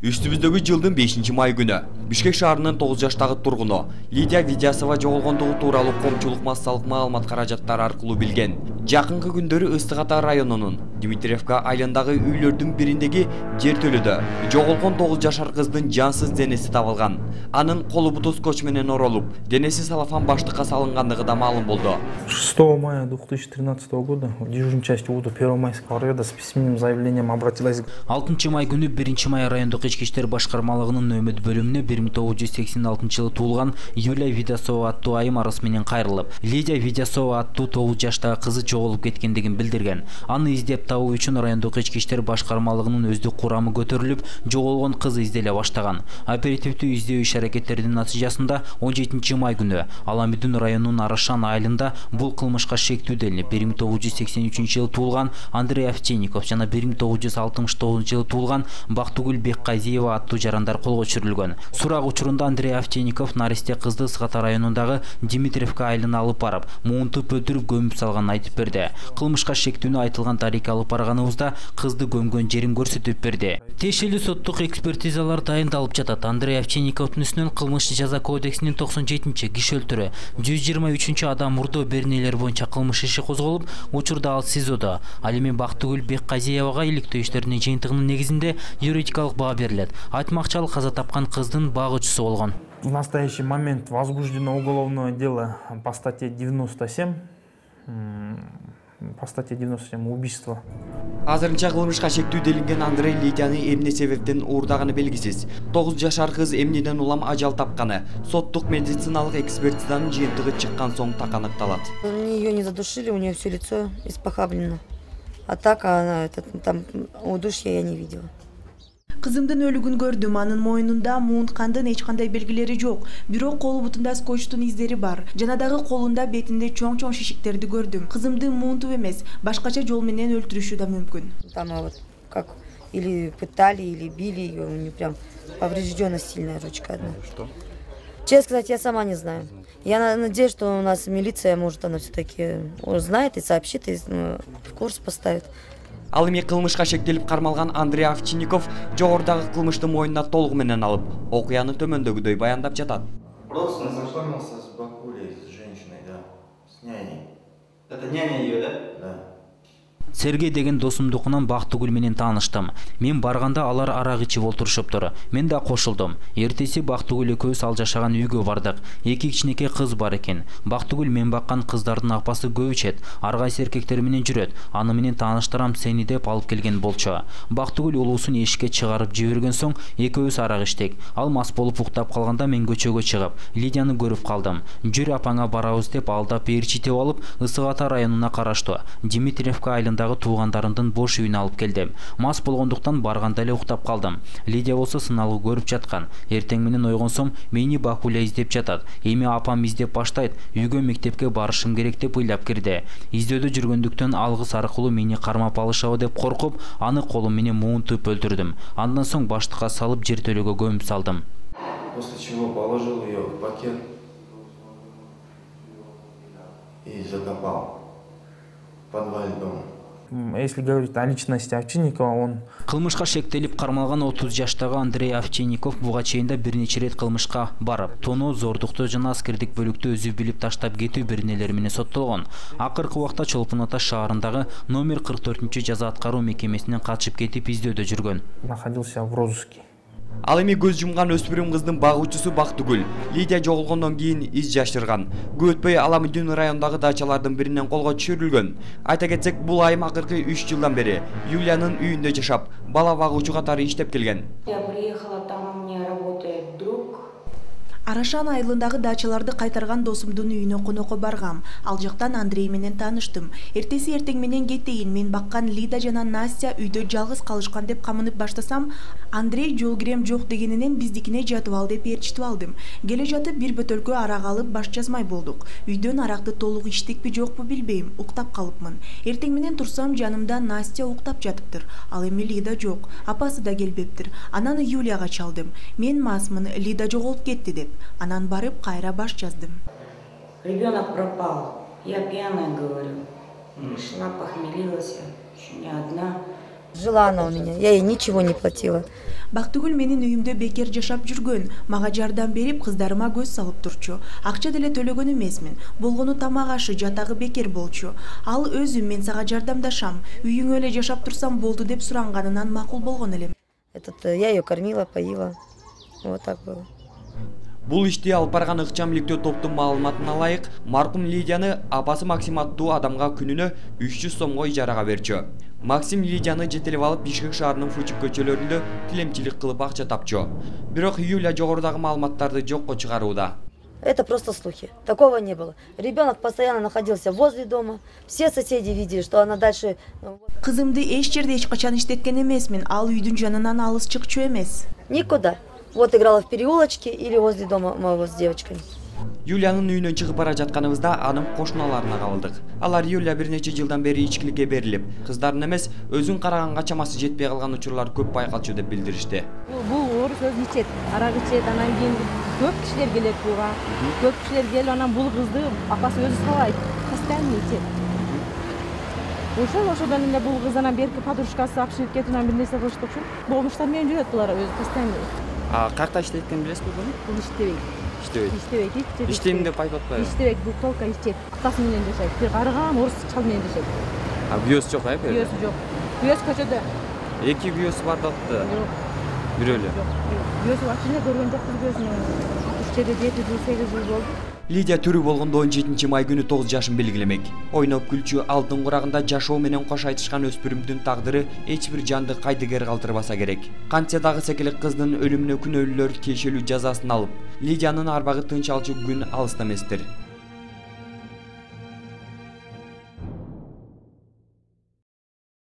Үстүбүздөгү жылдын 5-май күнү Бишкек шаарынын 9 жаштагы тургуну Лидия Видясова жоголгондугу тууралуу коомчулук массалык маалымат каражаттары аркылуу билген. Жакынкы күндөрү Ыстык Ата районунун Дмитриевка айылындагы үйлөрдүн бириндеги жертөлөдө жоголгон 9 жашар кыздын жансыз денеси табылган. Анын колу буту скотч менен оролуп, денеси салафан баштыкка салынгандыгы да маалым болду. 6 мая 2013 года в дежурной части УДО Первомайского района с письменным заявлением обратилась. 6 май күнү 1 май райондук ички иштер башкармалыгынын нөмөт бөлүмүнө 1986 туулган Юлия Видясова аттуу айым арыз менен кайрылып, Лидия Видясова аттуу 9 жаштагы кызы жоголуп кеткендигин билдирген. Аны издеп табуу үчүн райондук ички иштер башкармалыгынын өздүк курамы көтөрүлүп, жоголгон кызы изделе баштаган. Оперативдүү издөө иш-аракеттердин натыйжасында 17 май күнү Аламүдүн районунун Арашан айылында бул кылмышка шектүү делинип, 1983 жылы туулган Андрей Овчинников жана 1969 жылы туулган Бактыгүл Бекказиева аттуу жарандар колго түшүрүлгөн. Сурак учурунда Андрей Овчинников наристе кызды Ыстык Ата районундагы Дмитриевка айылына алып барып, муунтуп өлтүрүп көмүп салганын айтып берди. Кылмышка шектүүнү айтылган тарикке алып барганыбызда кызды көмгөн жерин көрсөтүп берди. Тиешелүү соттук экспертизалар дайындалып жатат. Андрей Овчинниковдун үстүнөн кылмыш жаза кодексинин 97 киши өлтүрүү, 123 адам мурдоо беренелер боюнча кылмыш иши козголуп, учурда ал СИЗОдо. Ал эми Бактыгүл Бекказиевага иликтөө иштеринин жыйынтыгынын негизинде юридикалык баа берилет. Айтмакчы, ал каза тапкан кыздын багуучусу болгон. В настоящий момент возбуждено уголовное дело по статье 97. По статье 97 убийство. Азырынча кылмышка шектүү делинген Андрей Лидияны эмне себептен уурдаганы белгисиз. 9 жашар кыз эмнеден улам ажал тапканы соттук медициналык экспертизанын жыйынтыгы чыккан соң так аныкталат. Ее не задушили, у нее все лицо испохаблено. А так она там удушья я не видела. Кызымдын өлүгүн көрдүм, анын мойнунда муунткандын эч кандай белгилери жок. Бирок колу бутунда скотчтун издери бар. Жана дагы колунда, бетинде чоң-чоң шишиктерди көрдүм. Кызымды муунтуп эмес, башкача жол менен өлтүрүшү да мүмкүн. Там вот как или пытали, или били ее, у нее прям повреждена сильная ручка одна. Что? Честно сказать, я сама не знаю. Я надеюсь, что у нас милиция, может, она все-таки узнает и сообщит, и в курс поставит. Ал эми кылмышка шектелип кармалган Андрей Овчинников жогорудагы кылмышты мойнуна толугу менен алып, окуяны төмөндөгүдөй баяндап жатат. Просто познакомился с бабулей, с женщиной, да, с няней. Это няня ее, да? Да. Сергей деген досумдукунан Бактыгүл менен тааныштым. Мен барганда алар арак ичип олтурушуптур. Мен да кошулдум. Эртеси Бактыгүл экөөбүз ал жашаган үйгө бардык. 2 кичинекей кыз бар экен. Бактыгүл мен баккан кыздардын апасы көп ичет. Ар кайсы эркектер менен жүрөт. Аны менен тааныштырам сени деп алып келген болчу. Бактыгүл улуусун эшикке чыгарып жиберген соң экөөбүз арак иштик. Ал мас болуп уктап калганда мен көчөгө чыгып, Лидияны көрүп калдым. Жүр апаңа барабыз деп алдап ээрчитип алып, Ыстык Ата районуна караштуу Дмитриевка айылында туугандарымдын бош үйүнө алып келдим. Мас болгондуктан барганда эле уктап калдым. Лидия болсо сыналгы көрүп жаткан. Эртең менен ойгонсом, мени Бакуля издеп жатат. Эми апам издеп баштайт. Үйгө мектепке барышым керек деп ыйлап кирди. Издөөдө жүргөндүктөн алгыс аркылуу мени кармап алышабы деп коркуп, аны колум менен муунтуп өлтүрдүм. Андан соң баштыкка салып жертөлөгө көмүп салдым. После чего положил ее в пакет и закопал в подвале дома. Если говорить о личности Овчинникова, он... Кылмышка шектелип кармалган 30 жаштагы Андрей Овчинников буга чейин да бир нече рет кылмышка барып, тоноо, зордуктоо жана аскердик бөлүктү өзү билип таштап кетүү беренелери менен соттолгон. Акыркы убакта Чолпон Ата шаарындагы номер 44 жаза аткаруу мекемесинен качып кетип издөөдө жүргөн. Находился в розыске. Ал эми көз жумган өспүрүм кыздын багуучусу Бактыгүл Лидия жоголгондон кийин из жашырган. Көп өтпөй Аламүдүн районундагы дачалардын биринен колго түшүрүлгөн. Айта кетсек, бул айым акыркы 3 жылдан бери Юлиянын үйүндө жашап, бала багуучу катары иштеп келген. Я приехала, там у меня работает друг. Арашан айылындагы дачаларды кайтарган досумдун үйүнө конокко баргам. Ал жактан Андрей менен тааныштым. Эртеси эртең менен кетейин, мен баккан Лида жана Настя үйдө жалгыз калышкан деп камынып баштасам, Андрей жол кирем жок дегенинен биздикине жатып ал деп ээрчитип алдым. Келе жатып бир бөтөлкө арак алып баш жазмай болдук. Үйдөн аракты толук ичтикпи жокпу билбейм, уктап калыпмын. Эртең менен турсам, жанымда Настя уктап жатыптыр. Ал эми Лида жок, апасы да келбептир. Анан Юлияга чалдым. Мен масмын, Лида жоголуп кетти деп. Анан барып кайра баш жаздым. Ребенок пропал. Я пьяная, говорю. Пришла, похмелилась, еще не одна. Жила она у меня, я ей ничего не платила. Бактыгүл менин үйүмдө бекер жашап жүргөн, мага жардам берип, кыздарыма көз салып турчу. Акча деле төлөгөн эмесмин. Болгону тамак ашы, жатагы бекер болчу. Ал өзүм мен сага жардамдашам, үйүңө эле жашап турсам болду деп суранганынан макул болгон элем. Я ее кормила, поила. Вот так было. Бул ишти алып барган ыкчам иликтөө топтун маалыматына ылайык, маркум Лидияны апасы Максим аттуу адамга күнүнө 300 сомго ижарага берчү. Максим Лидияны жетелеп алып Бишкек шаарынын Фучук көчөлөрүндө тилемчилик кылып акча тапчу. Бирок Юля жогорудагы маалыматтарды жокко чыгарууда. Это просто слухи. Такого не было. Ребенок постоянно находился возле дома. Все соседи видели, что она дальше... Кызымды эч жерде эч качан иштеткен эмесмин. Ал үйдүн жанынан алыс чыкчу эмес. Никуда. Вот играла в переулочке или возле дома моего с девочками. Юлянын үйүнөн чыгып бара жатканыбызда анын кошуналарына кабылдык. Алар Юля бир нече жылдан бери ичкиликке берилип, кыздарын эмес, өзүн караганга чамасы жетпей калган учурлар көп байкалчу деп билдиришти. Бул орус өзү ичет, арак ичет, анан кийин көп кишилер келет буга. Көп кишилер келип, анан бул кызды апасы өзү сабайт, постоянно ичет. Ошодон эле бул кыз анан берки подружкасы алып кетип, анан бир нерсе кылышты окшойт. Болмуштар менен жүрөт булар өзү постоянно. Каякта иштейт экенин билесизби буну? Бул иштебейт. Иштебейт. Иштейм деп айтып атпайбы? Иштебейт, бул толка ичет. Атасы менен жашайт. Бир карыган орус чал менен жашайт. Бүйөсү жок, э? Бүйөсү жок. Бүйөсү көчөдө. Эки бүйөсү бар да атты. Жок. Бирөө эле. Бүйөсү ачында көргөн жокпуз бүйөсүн. 7 жыл, 8 жыл болду. Лидия тирүү болгондо 17 май күнү 9 жашын белгилемек. Ойноп күлчү алтын курагында жашоо менен кош айтышкан өспүрүмдүн тагдыры эч бир жанды кайдыгер калтырбаса керек. Кантсе дагы секелек кыздын өлүмүнө күнөөлүүлөр тиешелүү жазасын алып, Лидиянын арбагы тынч алчу күн алыста эместир.